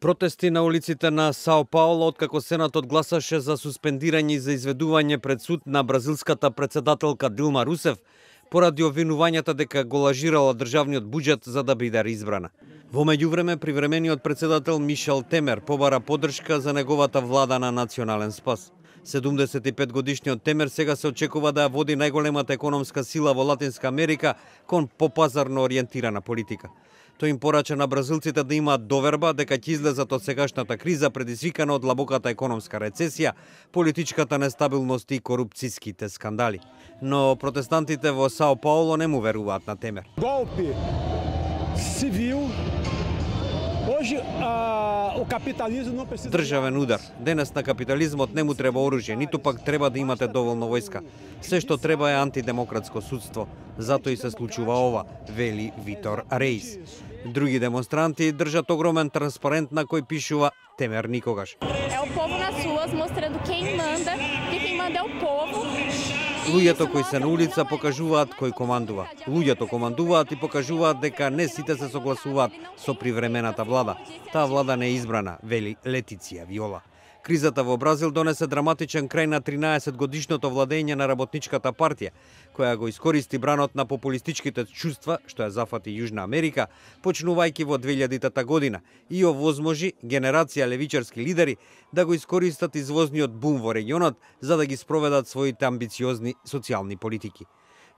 Протести на улиците на Сао Пауло откако Сенатот гласаше за суспендирање и за изведување пред суд на бразилската председателка Дилма Русеф поради обвинувањата дека го лажирала државниот буџет за да биде избрана. Во меѓувреме, привремениот председател Мишел Темер побара поддршка за неговата влада на национален спас. 75 годишниот Темер сега се очекува да ја води најголемата економска сила во Латинска Америка кон попазарно ориентирана политика. Тој им порача на бразилците да имаат доверба дека ќе излезат од сегашната криза предизвикана од длабоката економска рецесија, политичката нестабилност и корупцијските скандали. Но протестантите во Сао Пауло не му веруваат на Темер. Golpe civil. Hoje o capitalismo não precisa. Државен удар. Денес на капитализмот не му треба оружје, ниту пак треба да имате доволно војска. Се што треба е антидемократско судство. Затоа и се случува ова, вели Витор Рейс. Други демонстранти држат огромен транспарент на кој пишува Темер никогаш. É o povo nas ruas mostrando quem manda, porque quem manda é o povo. Луѓето кои се на улица покажуваат кој командува. Луѓето командуваат и покажуваат дека не сите се согласуваат со привремената влада. Таа влада не е избрана, вели Летиција Виола. Кризата во Бразил донесе драматичен крај на 13-годишното владење на Работничката партија, која го искористи бранот на популистичките чувства, што ја зафати Јужна Америка, почнувајќи во 2000-та година, и овозможи генерација левичарски лидери да го искористат извозниот бум во регионот за да ги спроведат своите амбициозни социјални политики.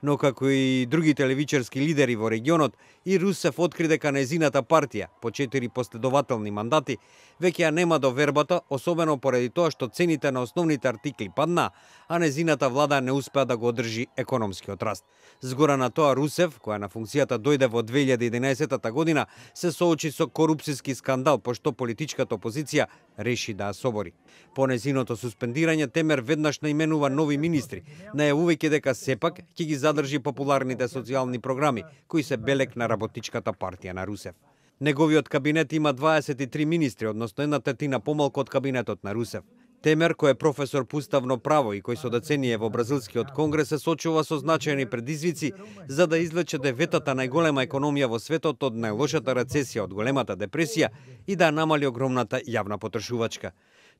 Но како и другите левичарски лидери во регионот, и Русеф откри дека нејзината партија, по 4 последователни мандати, веќе ја нема довербата, особено поради тоа што цените на основните артикли падна, а нејзината влада не успеа да го одржи економскиот раст. Згора на тоа Русеф, која на функцијата дојде во 2011 година, се соочи со корупцијски скандал, пошто политичката опозиција реши да ја собори. По нејзиното суспендирање, Темер веднаш наименува нови министри, најавувајќи дека сепак ќе ги задржи популарните социјални програми, кои се белег на Работничката партија на Русеф. Неговиот кабинет има 23 министри, односно 1/3 помалку од кабинетот на Русеф. Темер, кој е професор по уставно право и кој со деценија во бразилскиот конгрес се сочува со значајни предизвици за да извлече деветата најголема економија во светот од најлошата рецесија од големата депресија и да намали огромната јавна потрошувачка.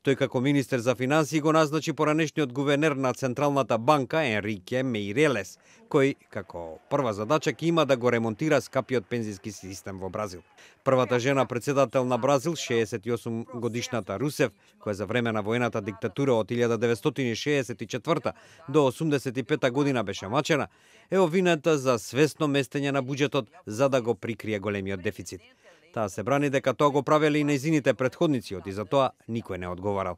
Тој како министер за финансии го назначи поранешниот гувернер на Централната банка Енрике Меирелес, кој како прва задача ќе има да го ремонтира скапиот пензиски систем во Бразил. Првата жена председател на Бразил, 68 годишната Русеф, која за време на воената диктатура од 1964 до 85 година беше мачена, е обвинета за свесно местење на буџетот за да го прикрие големиот дефицит. Таа се брани дека тоа го правеле и нејзините претходници, и за тоа никој не одговарал.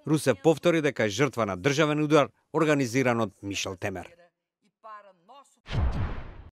Русеф повтори дека е жртва на државен удар организиран од Мишел Темер.